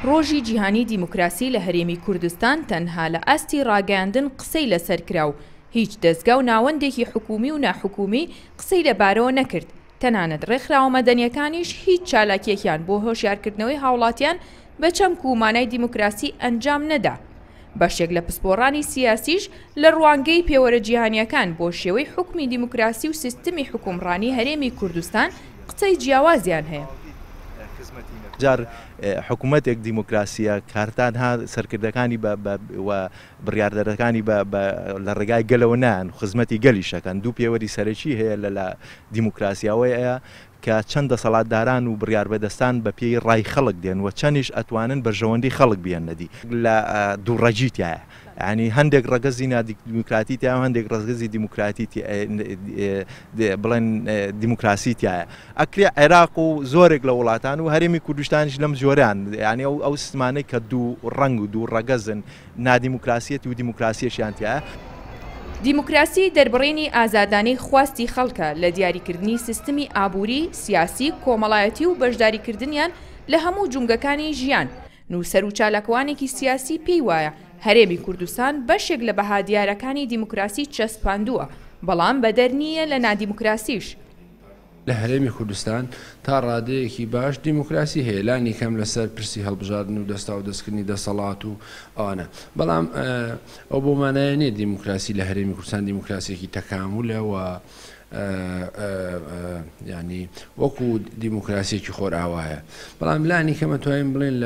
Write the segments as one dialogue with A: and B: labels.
A: ڕۆژی جیهانی دیموکراسی لە هەرێمی کوردستان تەنها لە ئاستی ڕاگەیاندن قسەی لەسەر کرا و هیچ دەزگا و ناوەندێکی حکوومی و ناحکوومی قسەی لەبارەوە نەکرد، تەنانەت ڕێکخراوە مەدەنییەکانیش هیچ چالاکییەکیان بۆ هۆشیارکردنەوەی هاوڵاتیان بە چەمک و مانای دیموکراسی ئەنجام نەدا. بەشێک لە پسپۆڕانی سیاسیش لە ڕوانگەی پێوەرە جیهانییەکان بۆ شێوەی حوکمی دیموکراسی و سیستمی حوکمڕانی هەرێمی کوردستان قسەی جیاوازیان هەیە.
B: جار حکومەتێک دیموکراسییە کارتان ها سەرکردەکانی بە و بڕیاردەرەکانی بە بە لە ڕێگای گەلەوە نایەن و خزمەتی گەلیش ئەکەن. دوو پێوەری سەرەکی هەیە لە لە دیموکراسی ئەوەیە کە چەند دەسەڵاتداران و بڕیاربەدەستان بە پێی ڕای خەڵک دێن و چەندیش ئەتوانن بەرژەوەندی خەڵک بهێننە دی. لە دوو ڕەگی تیایە. یانی هەندێک ڕەگەزی نادیموکراتی تیایە و هەندێک ڕەگەزی دیموکراتی بڵێن دیموکراسی تیایە. ئەکرێ عێراق و زۆرێک لە وڵاتان و هەرێمی کوردستانیش لەم جۆرەیان یانی ئەو ئەو سیستمانەی کە دوو ڕەنگ و دوو ڕەگەزن نادیموکراسیەت و دیموکراسیەشیان تیایە.
A: دیموکراسی دەربڕینی ئازادانەی خواستی خەڵکە لە دیاریکردنی سیستمی ئابووری، سیاسی، کۆمەڵایەتی و بەشداریکردنیان لە هەموو جومگەکانی ژیان. نووسەر و چالاکوانێکی سیاسی پێی وایە هەرێمی کوردستان بەشێک لە بەها دیارەکانی دیموکراسی چەسپاندووە، بەڵام بەدەر نییە لە نادیموکراسیش.
C: لە هەرێمی کوردستان تا ڕادەیەکی باش دیموکراسی هەیە، لانی کەم لەسەر پرسی هەڵبژاردن و دەستاودەستکردنی دەسەڵات و ئەوانە، بەڵام ئەو بەو مانایە نییە دیموکراسی لە هەرێمی کوردستان دیموکراسییەکی تەکامولە و یانی وەکو دیموکراسییەکی خۆرئاوایە، بەڵام لانی کەم ئەتوانین بڵێین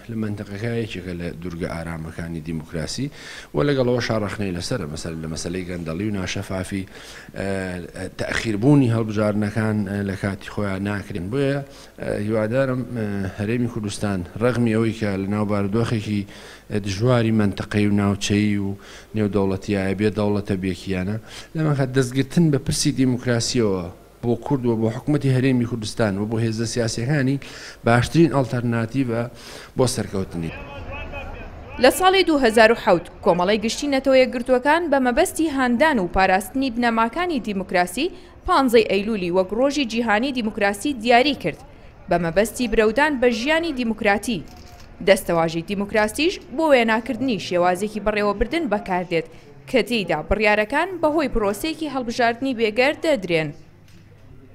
C: لە مەنتەقەکە یەکێکە لە دورگە ئارامەکانی دیموکراسی و لەگەڵ ئەوەشا ڕەخنەی لەسەرە، مەسەلەن لە مەسەلەی گەندەڵی و ناشەفافی تەئخیر بوونی هەڵبژاردنەکان لە کاتی خۆیان ناکرێن بۆیە هیوادارم هەرێمی کوردستان ڕەغمی ئەوەی کە لە ناو بارودۆخێکی دژواری مەنتەقەی و ناوچەیی و نێودەوڵەتیایە بێ دەوڵەتە بێکیانە لەمەکە دەستگرتن بە پرسی دیموکراسیەوە بۆ کورد و بۆ حکومەتی هەرێمی کوردستان و بۆ هێزە سیاسیەکانی باشترین ئەڵتەرناتیڤە بۆ سەرکەوتنی.
A: لە ساڵی 2007 کۆمەڵەی گشتی نەتەوە یەکگرتووەکان بە مەبەستی هاندان و پاراستنی بنەماکانی دیموکراسی پانزەی ئەیلولی وەک ڕۆژی جیهانی دیموکراسی دیاری کرد بە مەبەستی برەودان بە ژیانی دیموکراتی. دەستەواژەی دیموکراسیش بۆ وێناکردنی شێوازێکی بەڕێوەبردن بەکاردێت کە تێیدا بڕیارەکان بەهۆی پرۆسەیەکی هەڵبژاردنی بێگەرد دەدرێن.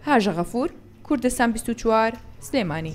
A: هاژە غەفور، کوردستان 24، سلێمانی.